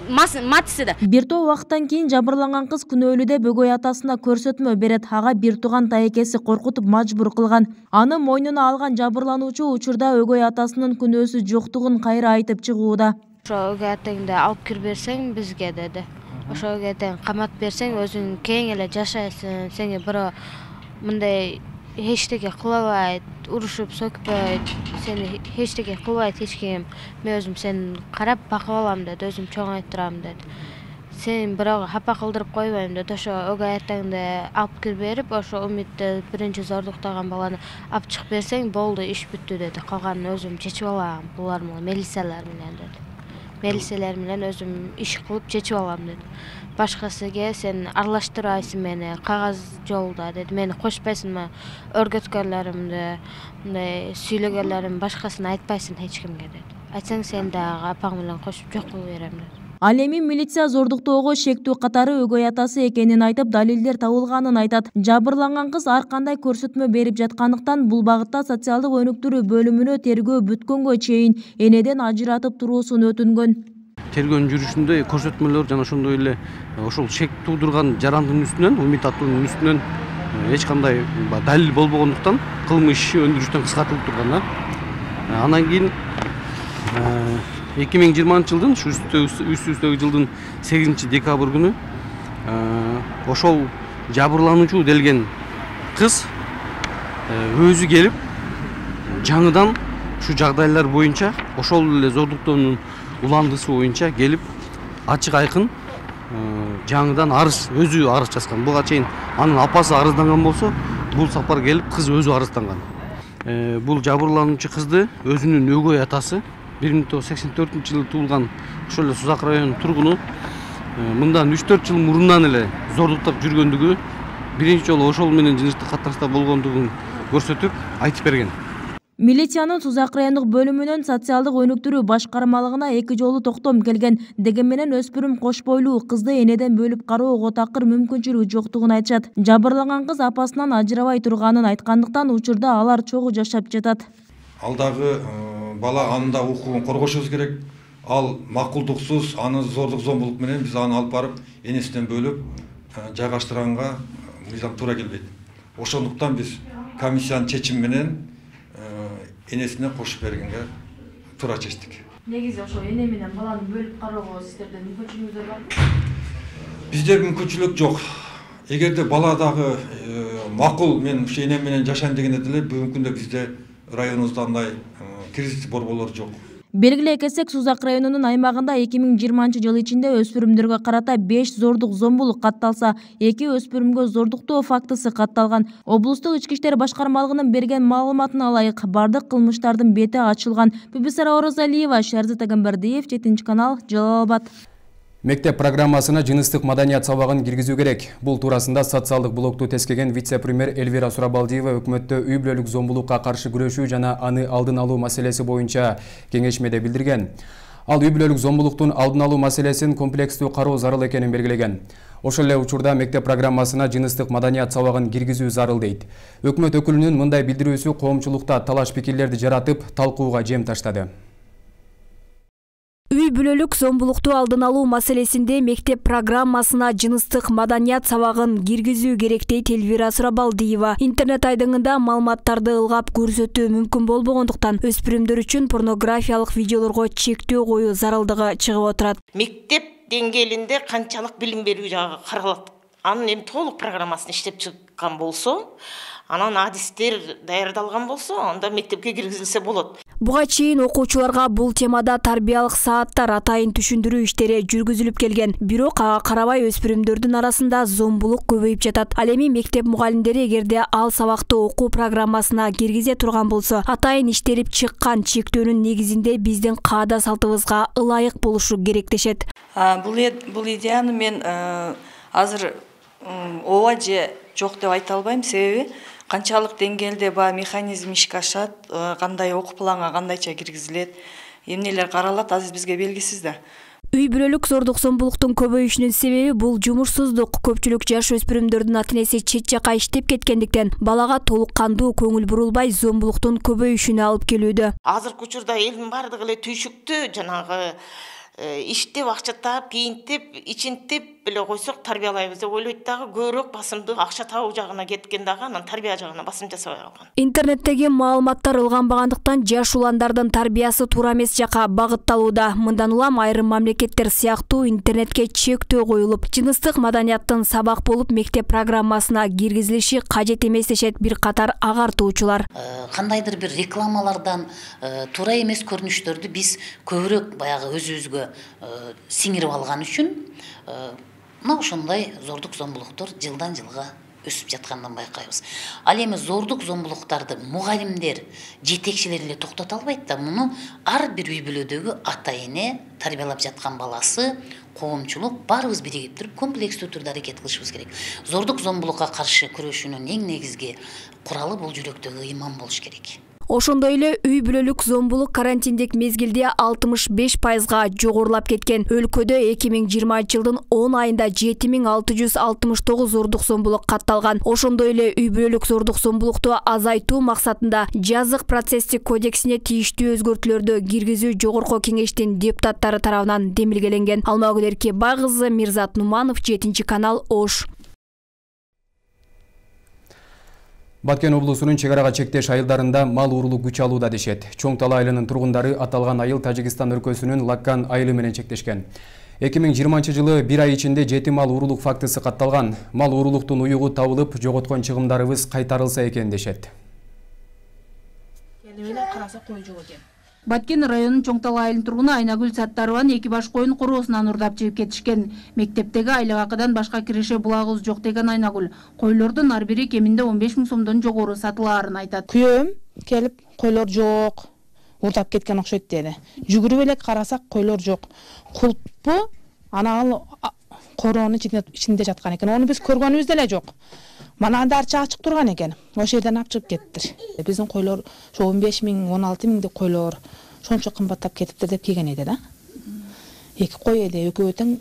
Матисида. Бир топ убакыттан кийин жабырланган кыз күнөөлүү деп өгөй атасына көрсөтмө берет. Ага бир тууган тайекеси коркутуп мажбур кылган. Аны мойнуна алган жабырлануучу учурда өгөй атасынын күнөөсү жоктугун кайра айтып чыгууда. Ошо өгөй атаңды алып кирип берсең бизге деди. Ошо өгөй атаң камап берсең өзүң кең эле жашайсың. Сеңе бирөө мындай эчтеке кылбайт, урушуп сөкпөйт. Сени эчтеке кылбайт эч ким. Мен өзүм сени карап бакып алам деди, өзүм чоңойттурам деди. Сен бирок хапа кылдырып койбойм деди. Ошо өгөй атаңды алып кирип берип, ошо Умитти биринчи зордуктаган баланы алып чыгып берсең болду, иш бүттү деди. Калганын өзүм чечип алам, булар менен милициялар менен деди. Милициялар менен өзүм иш кылып чечип алам деди. Башкасыга сен аралаштырбайсың мени, кагаз жолдо деди. Мени кошпойсуңбу, өргөткөнлөрүмдү, мындай сүйлөгөнлөрүм башкасын айтпайсың эч кимге деди. Айтсаң сен дагы апаң менен кошуп жок кылып берем деди. Ал эми милиция зордуктоого шектүү катары өгөй атасы экенин айтып, далилдер табылганын айтат. Жабырланган кыз ар кандай көрсөтмө берип жаткандыктан бул багытта социалдык өнүктүрүү бөлүмүнө тергөө бүткөнгө чейин энеден ажыратып туруусун өтүнгөн. Тергөөнүн жүрүшүндө көрсөтмөлөр жана ошондой эле ошол шек туудурган жарандын үстүнөн, Умит аттуунун үстүнөн эч кандай далил болбогондуктан кылмыш иши өндүрүштөн кыскартылып турган. Андан кийин 2020 жылдын үстүбүздөгү жылдын 8 декабрь күнү ошол жабырлануучу делген кыз өзү келип жаңыдан ушу жагдайлар боюнча ошол эле зордуктоонун уландысы боюнча келип ачык айкын жаңыдан арыз өзү арыз жазган. Буга чейин анын апасы арызданган болсо, бул сапар келип кыз өзү арызданган. Бул жабырлануучу кызды өзүнүн өгөй атасы 1984 жылы туулган ошол эле Сузак районунун тургуну мындан 3-4 жыл мурундан эле зордуктап жүргөндүгү, биринчи жолу ошол менен жыныстык катнашта болгондугун көрсөтүп айтып берген. Милициянын Сузак райондук бөлүмүнөн социалдык өнүктүрүү башкармалыгына 2 жолу токтом келген. Дегенменен өспүрүм кош бойлуу кызды энеден бөлүп кароого такыр мүмкүнчүлүгү жоктугун айтышат. Жабырланган кыз апасынан ажырабай турганын айткандыктан учурда алар чогуу жашап жатат. Алдагы бала анында укугун коргошубуз керек. Ал макулдуксуз, аны зордук зомбулук менен биз аны алып барып энесинен бөлүп жайгаштырганга мыйзам туура келбейт. Ошондуктан биз комиссиянын чечими менен энесине кошуп бергенге туура чечтик. Негизи ошо эне менен баланы бөлүп кароого сиздерде мүмкүнчүлүгүңүздөр барбы? Бизде мүмкүнчүлүк жок. Эгерде бала дагы макул мен ушу энем менен жашайм дегенде деле бүгүнкү күндө бизде районубузда андай кризис борборлор жок. Белгилей кетсек, Сузак районунун аймагында 2020 жыл ичинде өспүрүмдөргө карата 5 зордук зомбулук катталса, 2 өспүрүмгө зордуктоо фактысы катталган. Облустук ички иштер башкармалыгынын берген маалыматына ылайык, бардык кылмыштардын бети ачылган. Бибисара Оразалиева, Шерзат Агамбердиев, 7 канал, Жалал Абад. Мектеп программасына жыныстык маданият сабагын киргизүү керек. Бул туурасында социалдык блокту тескеген вице-премьер Эльвира Сурабалдиева өкмөттө үй бүлөлүк зомбулукка каршы күрөшүү жана аны алдын алуу маселеси боюнча кеңешмеде билдирген. Ал үй бүлөлүк зомбулуктун алдын алуу маселесин комплекстүү кароо зарыл экенин белгилеген. Ошол эле учурда мектеп программасына жыныстык маданият сабагын киргизүү зарыл дейт. Өкмөт өкүлүнүн мындай билдирүүсү коомчулукта талаш пикирлерди жаратып, талкууга жем таштады. Үй бүлөлүк зомбулукту алдын алуу маселесинде мектеп программасына жыныстык маданият сабагын киргизүү керек дейт Эльвира Сурабалдиева. Интернет айдыңында маалыматтарды ылгап көрсөтүү мүмкүн болбогондуктан өспүрүмдөр үчүн порнографиялык видеолорго чектөө коюу зарылдыгы чыгып отурат. Мектеп деңгээлинде канчалык билим берүү жагы каралат. Анын эми толук программасын иштеп чыккан болсо, анан адистер даярдалган болсо, анда мектепке киргизилсе болот. Буга чейин окуучуларга бул темада тарбиялык сааттар атайын түшүндүрүү иштери жүргүзүлүп келген. Бирок ага карабай өспүрүмдөрдүн арасында зомбулук көбөйүп жатат. Ал эми мектеп мугалимдери эгерде ал сабакты окуу программасына киргизе турган болсо, атайын иштелип чыккан чектөөнүн негизинде биздин каада салтыбызга ылайык болушу керек дешет. Бул идеяны мен азыр ооба же жок деп айта албайм, себеби канчалык деңгээлде баягы механизм ишке ашат, кандай окуу планга кандайча киргизилет, эмнелер каралат, азыр бизге белгисиз да. Үй бүлөлүк зордук зомбулуктун көбөйүшүнүн себеби бул жумушсуздук. Көпчүлүк жаш өспүрүмдөрдүн ата-энеси чет жакка иштеп кеткендиктен балага толук кандуу көңүл бурулбай зомбулуктун көбөйүшүнө алып келүүдө. Азыркы учурда элдин бардыгы эле түйшүктүү, жанагы иштеп акча таап, кийинтип, ичинтип эле койсок тарбиялайбыз деп ойлойт дагы, көбүрөөк басымды акча табуу жагына кеткен дагы, анан тарбия жагына басым жасабай калган. Интернеттеги маалыматтар ылганбагандыктан жаш уландардын тарбиясы туура эмес жакка багытталууда. Мындан улам айрым мамлекеттер сыяктуу интернетке чектөө коюлуп, жыныстык маданияттын сабак болуп мектеп программасына киргизилиши кажет эмес дешет бир катар агартуучулар. Кандайдыр бир рекламалардан туура эмес көрүнүштөрдү биз көбүрөөк баягы өзүбүзгө сиңирип алган үчүн мына ошондой зордук зомбулуктар жылдан жылга өсүп жаткандан байкайбыз. Ал эми зордук зомбулуктарды мугалимдер, жетекчилер эле токтото албайт да, муну ар бир үй бүлөдөгү ата-эне, тарбиялап жаткан баласы, коомчулук баарыбыз биригип туруп комплекстүү түрдө аракет кылышыбыз керек. Зордук зомбулукка каршы күрөшүүнүн эң негизги куралы бул жүрөктөгү ыйман болуш керек. Ошондой эле үй бүлөлүк зомбулук карантиндик мезгилде 65%га жогорулап кеткен. Өлкөдө 2020 жылдын 10 айында 7669 зордук зомбулук катталган. Ошондой эле үй бүлөлүк зордук зомбулукту азайтуу максатында жазык процесстик кодексине тийиштүү өзгөртүүлөрдү киргизүү жогорку кеңештин депутаттары тарабынан демилгеленген. Алмагүл Эркебай кызы, Мирзат Нуманов, 7-канал, Ош. Баткен облусунун чек арага чектеш айылдарында мал уурулук күч алууда дешет. Чоң Тала айылынын тургундары аталган айыл Тажикстан өлкөсүнүн Лаккан айылы менен чектешкен. 2020 жылы 1 ай ичинде 7 мал уурулук фактысы катталган. Мал уурулуктун уюгу табылып, жоготкон чыгымдарыбыз кайтарылса экен дешет. Баткен районунун Чоң Тала айылынын тургуну Айнагүл Саттарованын 2 баш коюн короосунан урдап жеп кетишкен. Мектептеги айлык акыдан башка киреше булагыбыз жок деген Айнагүл койлордун ар бири кеминде 15 000 сомдон жогору сатылаарын айтат. Күйөөм келип койлор жок, урдап кеткен окшойт деди. Жүгүрүп элек карасак койлор жок. Кулпу ана ал короонун ичинде жаткан экен. Ону биз көргөнүбүз деле жок. Мана дарча ачык турган экен. Ошол жерден алып чыгып кеттир. Биздин койлор ошо 15 000, 16 000 деп койлор сончо кымбаттап кетиптир деп келген эди да. 2 кой эди, экөө тең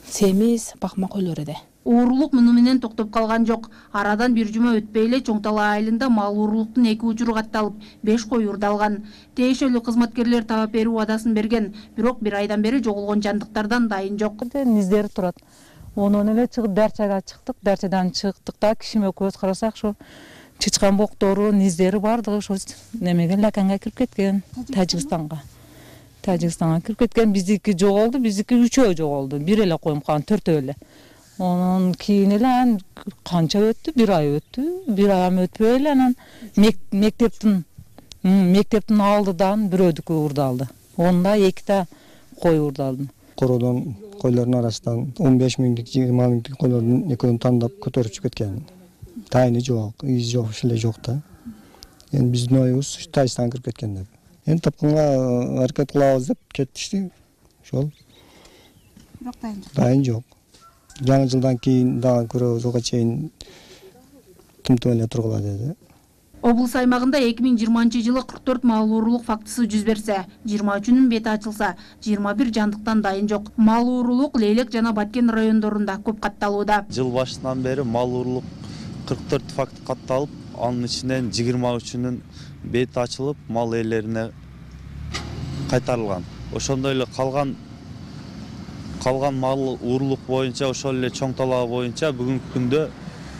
семиз бакма койлор эди. Уурулук муну менен токтоп калган жок. Арадан бир жума өтпөй эле Чоң Тала айылында мал уурулуктун 2 учуру катталып, 5 кой уурдалган. Тиешелүү кызматкерлер таап берүү убадасын берген, бирок 1 айдан бери жоголгон жандыктардан дайын жок. Низдери турат. Онун эле чыгып дарчага чыктык, дарчадан чыктык да кишиме көз карасак ошо чычкан боктору, низдери бардыгы ошо немеге Лаканга кирип кеткен, Тажикстанга кирип кеткен. Биздики жоголду, биздики 3-өө жоголду. Бир эле коюм калган, 4-өө эле. Онун кийин эле канча өттү? 1 ай өттү. 1 ай өтпөй эле анан мектептин алдыдан бирөөдүкү уурдалды. Онда 2 кой уурдалды. Короодон койлордун арасынан 15 000, 20 000 койлордун экөөнү тандап көтөрүп чыгып кеткен. Тайны жок, из жок, эле жок да. Эми биздин оюбуз Тажикстанга кирип кеткен деп. Эми тапканга аракет кылабыз деп кетишти. Ошол. Бирок дайын жок. Жаңы жылдан кийин дагы көрөбүз, ага чейин тымтым эле тургула деди. Облус аймагында 2020 жылы 44 мал уурулук фактысы жүз берсе, 23-үнүн бети ачылса, 21 жандыктан дайын жок. Мал уурулук Лейлек жана Баткен райондорунда көп катталууда. Жыл башынан бери мал уурулук 44 факт катталып, анын ичинен 23-үнүн бети ачылып, мал ээлерине кайтарылган. Ошондой эле калган мал уурулук боюнча, ошол эле Чоң Тала боюнча бүгүнкү күндө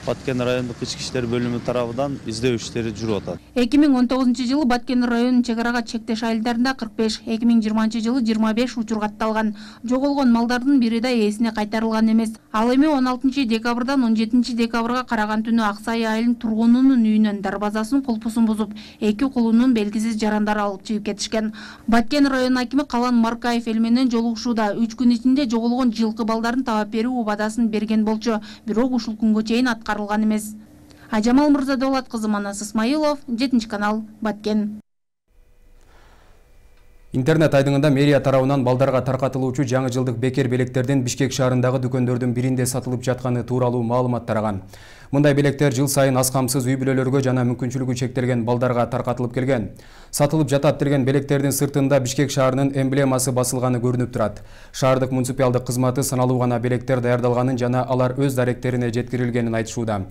Баткен райондук ички иштер бөлүмү тарабынан издөө иштери жүрүп атат. 2019 жылы Баткен районунун чек арага чектеш айылдарында 45, 2020 жылы 25 учур катталган. Жоголгон малдардын бири да ээсине кайтарылган эмес. Ал эми 16 декабрдан 17 декабрга караган түнү Аксай айылынын тургунунун үйүнөн дарбазасынын кулпусун бузуп, 2 кулунун белгисиз жарандары алып чыгып кетишкен. Баткен район акими Калан Маркаев эл менен жолугушууда 3 күн ичинде жоголгон жылкы балдарын таап берүү убадасын берген болчу, бирок ушул күнгө чейин аткарылган эмес. Ажамал Мырзадолат кызы, Манас Исмаилов, 7-канал, Баткен. Интернет айдыңында мэрия тарабынан балдарга таркатылуучу жаңы жылдык бекер белектердин Бишкек шаарындагы дүкөндөрдүн биринде сатылып жатканы тууралуу маалымат тараган. Мындай белектер жыл сайын аз камсыз үй бүлөлөргө жана мүмкүнчүлүгү чектелген балдарга таркатылып келген. Сатылып жатат деген белектердин сыртында Бишкек шаарынын эмблемасы басылганы көрүнүп турат. Шаардык муниципалдык кызматы саналуу гана белектер даярдалганын жана алар өз даректерине жеткирилгенин айтышууда.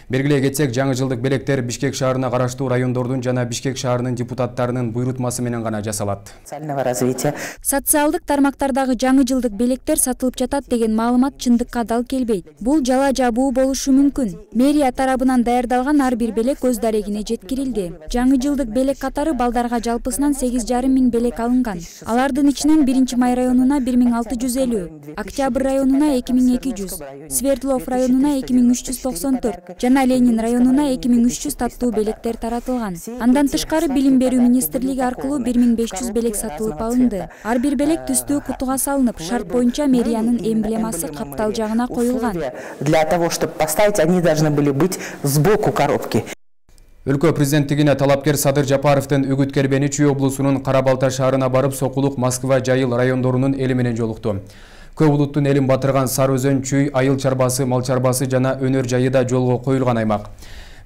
Бергилей кетсек, жаңы жылдык белектер Бишкек шаарына караштуу райондордун жана Бишкек шаарынын депутаттарынын буйрутмасы менен гана жасалат. Социалдык тармактардагы жаңы жылдык белектер сатылып жатат деген маалымат чындыкка дал келбейт. Бул жала жабуу болушу мүмкүн. Мэрия тарабынан даярдалган ар бир белек өз дарегине жеткирилди. Жаңы жылдык белек катары балдарга жалпысынан 8,5 миң белек алынган. Алардын ичинен 1-Май районуна 1650, Октябрь районуна 2200, Свердлов районуна 2394 жана Ленин районуна 2300 таттуу белектер таратылган. Андан тышкары Билим берүү министрлиги аркылуу 1500 белек сатылып алынды. Ар бир белек түстүү кутуга салынып, шарт боюнча мэриянын эмблемасы каптал жагына коюлган. Для того, чтобы поставить, они должны были быть сбоку коробки. Өлкө президенттигине талапкер Садыр Жапаровдун Үгүт Кербени Чүй облусунун Кара-Балта шаарына барып, Сокулук, Москва, Жайыл райондорунун эли менен жолукту. Көп улуттун элин батырган Сары Өзөн, Чүй, Айыл чарбасы, Мал чарбасы жана Өнөр жайы да жолго коюлган аймак.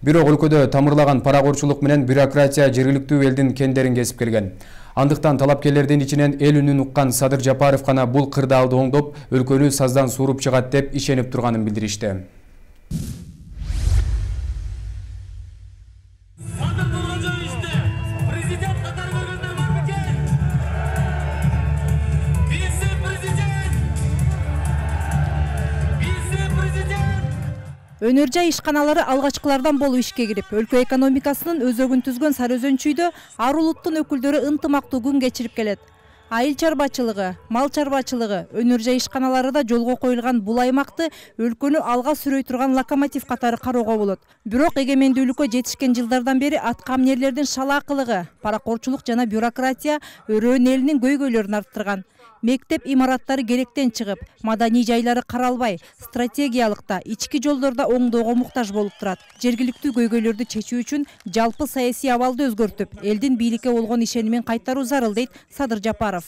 Бирок өлкөдө тамырлаган паракорчулук менен бюрократия жергиликтүү элдин кендерин кесип келген. Андыктан талапкерлердин ичинен эл үнүн уккан Садыр Жапаров гана бул кырдаалды оңдоп, өлкөнү саздан сууруп чыгат деп ишенип турганын билдиришти. Өнөр жай ишканалары алгачкылардан болуп ишке кирип, өлкө экономикасынын өзөгүн түзгөн Сары Өзөн Чүйдө ар улуттун өкүлдөрү ынтымактуу күн кечирип келет. Айыл чарбачылыгы, мал чарбачылыгы, өнөр жай ишканалары да жолго коюлган бул аймакты өлкөнү алга сүрөй турган локомотив катары кароого болот. Бирок эгемендүүлүккө жетишкен жылдардан бери аткамнерлердин шалаакылыгы, паракорчулук жана бюрократия өрөөн элинин көйгөйлөрүн арттырган. Мектеп имараттары керектен чыгып, маданий жайлары каралбай, стратегиялыкта, ички жолдордо оңдоого муктаж болуп турат. Жергиликтүү көйгөйлөрдү чечүү үчүн жалпы саясий абалды өзгөртүп, элдин бийликке болгон ишенимин кайтаруу зарыл дейт Садыр Жапаров.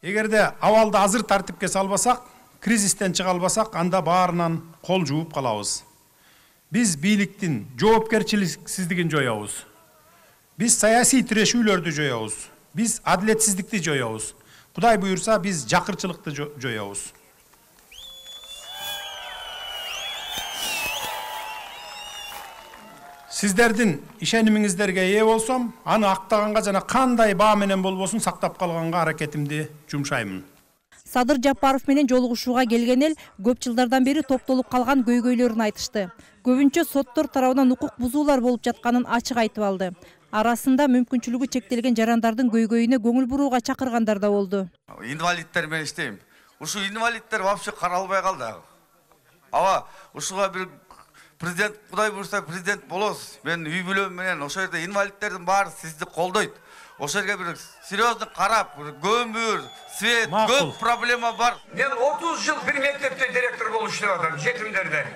Эгерде абалды азыр тартипке салбасак, кризистен чыга албасак, анда баарынан кол жууп калабыз. Биз бийликтин жоопкерчиликсиздигин жоябыз. Биз саясий тирешүүлөрдү жоябыз. Биз адилетсиздикти жоябыз. Кудай буйурса, биз жакырчылыкты жоябыз. Сиздердин ишенимиңиздерге ээ болсом, аны актаганга жана кандай баа менен болбосун сактап калганга аракетимди жумшаймын. Садыр Жапаров менен жолугушууга келген эл көп жылдардан бери топтолуп калган көйгөйлөрүн айтышты. Көбүнчө соттор тарабынан укук бузуулар болуп жатканын ачык айтып алды. Арасында мүмкүнчүлүгү чектелген жарандардын көйгөйүнө көңүл бурууга чакыргандар да болду. Инвалидтер менен иштейм. Ушу инвалидтер вообще каралбай калды. Аба ушуга бир президент, Кудай буйрса президент болосуз. Мен үй бүлөм менен ошол жерде инвалидтердин баары сизди колдойт. Ошол жерге бир серьезно карап, көмүр, свет, көп проблема бар. Мен 30 жыл бир мектепте директор болуп иштеп атам, жетимдерде.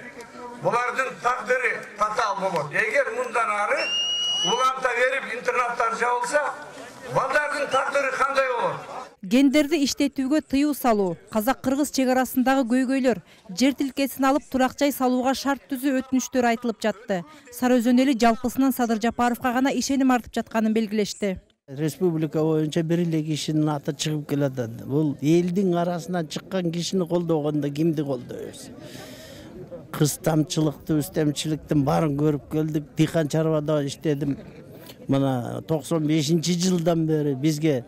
Булардын тагдыры татаал болот. Эгер мындан ары уланта берип интернаттар жабылса, балдардын тагдыры кандай болот? Гендерди иштетүүгө тыюу салуу, казак-кыргыз чек арасындагы көйгөйлөр, жер тилкесин алып турак жай салууга шарт түзүү өтүнүчтөр айтылып жатты. Сары Өзөн эли жалпысынан Садыр Жапаровго гана ишеним артып жатканын белгилешти. Республика боюнча бир эле кишинин аты чыгып келатат. Бул элдин арасынан чыккан кишини колдогондо кимди колдойбуз? Кыз тамчылыкты, үстемчиликтин баарын көрүп келдик. Дыйкан чарбада иштедим. Мына 95-жылдан бери бизге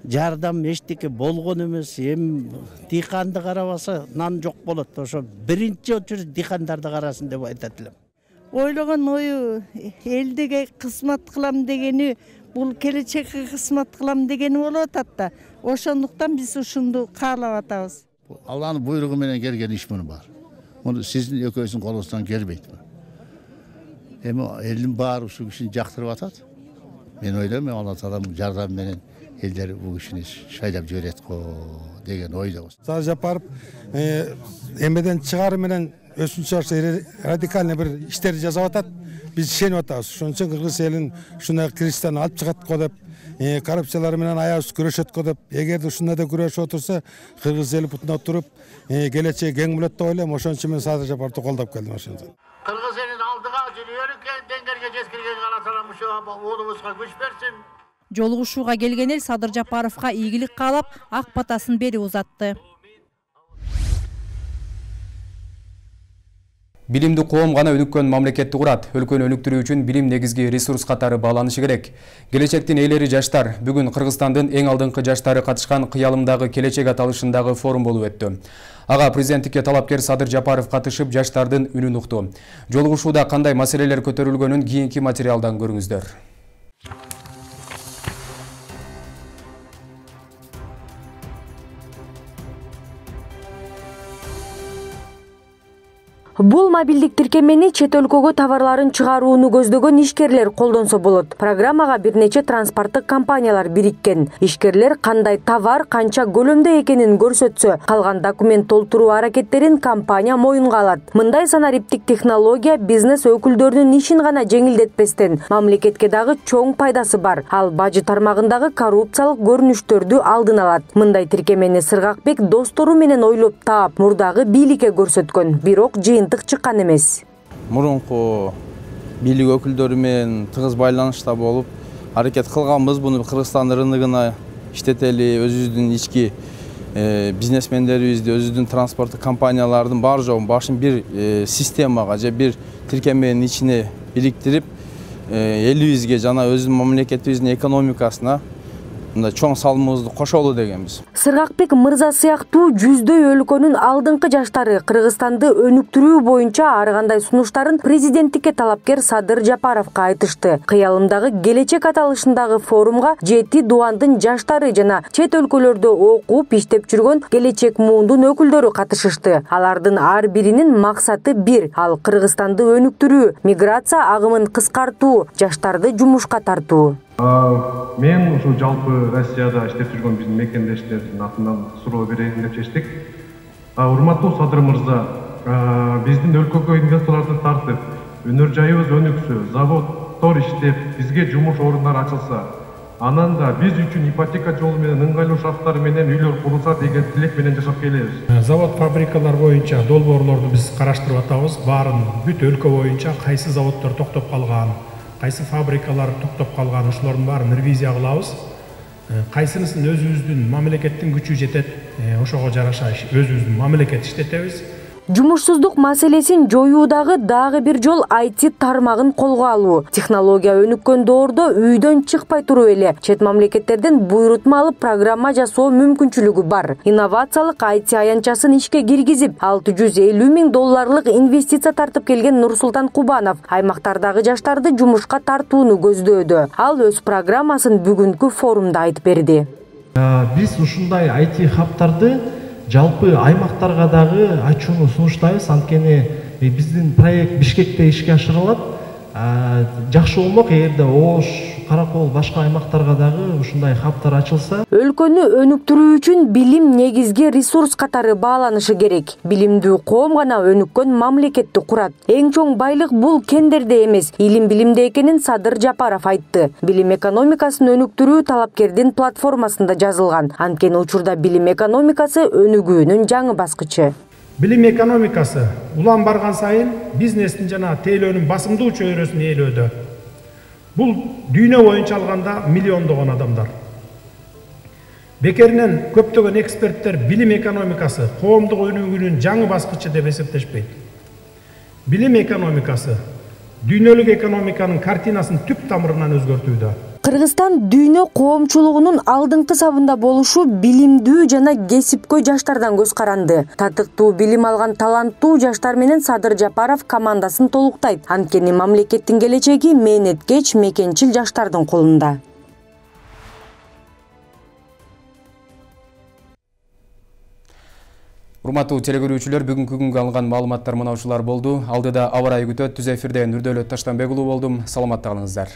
жардам эчтеке болгон эмес. Эми дыйканды карабаса нан жок болот. Ошо биринчи очередь дыйкандарды карасын деп айтат элем. Ойлогон ою элдиге кызмат кылам дегени, бул келечекке кызмат кылам дегени болуп атат да. Ошондуктан биз ушунду каалап атабыз. Алланын буйругу менен келген иш муну бар. Муну сиздин экөөсүн колуңуздан келбейт. Эми элдин баары ушул кишини жактырып атат. Мен ойлойм, Алла Тааланын жардамы менен элдер бул кишини шайлап жиберет го деген ойдобуз. Садыр Жапаров эмеден чыгары менен өсүнчө радикальный бир иштерди жасап атат. Биз ишенип атабыз. Ошон үчүн кыргыз элин ушундай кризистен алып чыгат го деп коррупциялар менен аябыз күрөшөт го деп, эгерде ушундай да күрөшүп отурса, кыргыз эли бутуна туруп, келечеги кең болот деп ойлойм. Ошон үчүн мен Садыр Жапаровду колдоп келдим ошондо. Кыргыз элин алдыга жүрүп деңгээлге жеткирген каласалам ушу уулубузга күч берсин. Жолугушууга келген эл Садыр Жапаровго ийгилик каалап, ак батасын берип узатты. Билимди коом гана өнүккөн мамлекетти курат. Өлкөнү өнүктүрүү үчүн билим негизги ресурс катары бааланышы керек. Келечектин ээлери жаштар. Бүгүн Кыргызстандын эң алдыңкы жаштары катышкан кыялымдагы келечек аталышындагы форум болуп өттү. Ага президенттикке талапкер Садыр Жапаров катышып, жаштардын үнүн укту. Жолугушууда кандай маселелер көтөрүлгөнүн кийинки материалдан көрүңүздөр. Бул мобилдик тиркемени чет өлкөгө товарларын чыгарууну көздөгөн ишкерлер колдонсо болот. Программага бир нече транспорттук компаниялар бириккен. Ишкерлер кандай товар, канча көлөмдө экенин көрсөтсө, калган документ толтуруу аракеттерин компания моюнга алат. Мындай санариптик технология бизнес өкүлдөрүнүн ишин гана жеңилдетпестен, мамлекетке дагы чоң пайдасы бар. Ал бажы тармагындагы коррупциялык көрүнүштөрдү алдын алат. Мындай тиркемени Сыргакбек достору менен ойлоп таап, мурдагы бийликке көрсөткөн. Бирок чыккан эмес. Мурунку бийлик өкүлдөрү менен тыгыз байланышта болуп, аракет кылганбыз. Буну Кыргызстан рыногуна иштетели, өзүбүздүн ички бизнесмендерибизди, өзүбүздүн транспорттук компаниялардын бар жогун башын бир системага же бир тиркеменин ичине бириктирип, элибизге жана өзүбүздүн мамлекетибиздин экономикасына чоң салымыбызды кошолу дегенбиз. Сыргакбек мырза сыяктуу жүздөй өлкөнүн алдыңкы жаштары Кыргызстанды өнүктүрүү боюнча ар кандай сунуштарын президенттикке талапкер Садыр Жапаровго айтышты. Кыялымдагы келечек аталышындагы форумга 7 дубандын жаштары жана чет өлкөлөрдө окуп иштеп жүргөн келечек муундун өкүлдөрү катышышты. Алардын ар биринин максаты бир: ал Кыргызстанды өнүктүрүү, миграция агымын кыскартуу, жаштарды жумушка тартуу. Мен ушу жалпы Россияда иштеп жүргөн биздин мекендештердин атынан суроо берейин деп чечтик. Урматтуу Садыр мырза, биздин өлкөгө инвесторлорду тартып, өнөр жайыбыз өнүксө, заводдор иштеп, бизге жумуш орундары ачылса, анан да биз үчүн ипотека жолу менен ыңгайлуу шарттар менен үйлөр курулса деген тилек менен жашап келебиз. Завод фабрикалар боюнча долбоорлорду биз караштырып атабыз. Баарын бүт өлкө боюнча кайсы заводдор токтоп калган, кайсы фабрикалар токтоп калган, ошолордун баарын ревизия кылабыз. Кайсынысын өзүбүздүн мамлекеттин күчү жетет, ошого жараша өзүбүздүн мамлекет иштетебиз. Жумушсуздук маселесин жоюудагы дагы бир жол IT тармагын колго алуу. Технология өнүккөн доордо үйдөн чыкпай туруп эле чет мамлекеттерден буйрутма алып программа жасоо мүмкүнчүлүгү бар. Инновациялык IT аянтчасын ишке киргизип, $650 000 инвестиция тартып келген Нурсултан Кубанов аймактардагы жаштарды жумушка тартууну көздөөдө. Ал өз программасын бүгүнкү форумда айтып берди. Биз ушундай IT хабтарды жалпы аймактарга дагы ачууну сунуштайбыз. Анткени биздин проект Бишкекте ишке ашырылат. Жакшы болмок эгерде Ош, Каракол, башка аймактарга дагы ушундай хабтар ачылса. Өлкөнү өнүктүрүү үчүн билим негизги ресурс катары бааланышы керек. Билимдүү коом гана өнүккөн мамлекетти курат. Эң чоң байлык бул кендерде эмес, илим билимде экенин Садыр Жапаров айтты. Билим экономикасын өнүктүрүү талапкердин платформасында жазылган. Анткени учурда билим экономикасы өнүгүүнүн жаңы баскычы. Билим экономикасы улам барган сайын бизнестин жана тейлөөнүн басымдуу чөйрөсүн ээлөөдө. Бул дүйнө боюнча алганда миллиондогон адамдар. Бекеринен көптөгөн эксперттер билим экономикасы коомдук өнүгүүнүн жаңы баскычы деп эсептешпейт. Билим экономикасы дүйнөлүк экономиканын картинасын түп тамырынан өзгөртүүдө. Кыргызстан дүйнө коомчулугунун алдыңкы сабында болушу билимдүү жана кесипкөй жаштардан көз каранды. Татыктуу билим алган таланттуу жаштар менен Садыр Жапаров командасын толуктайт. Анткени мамлекеттин келечеги мээнеткеч, мекенчил жаштардын колунда. Урматтуу телекөрүүчүлөр, бүгүнкү күнгө алынган маалыматтар мына ушулар болду. Алдыда аба ырайы күтөт. Түз эфирде Нурдөлөт Таштанбек уулу болдум. Саламатта калыңыздар.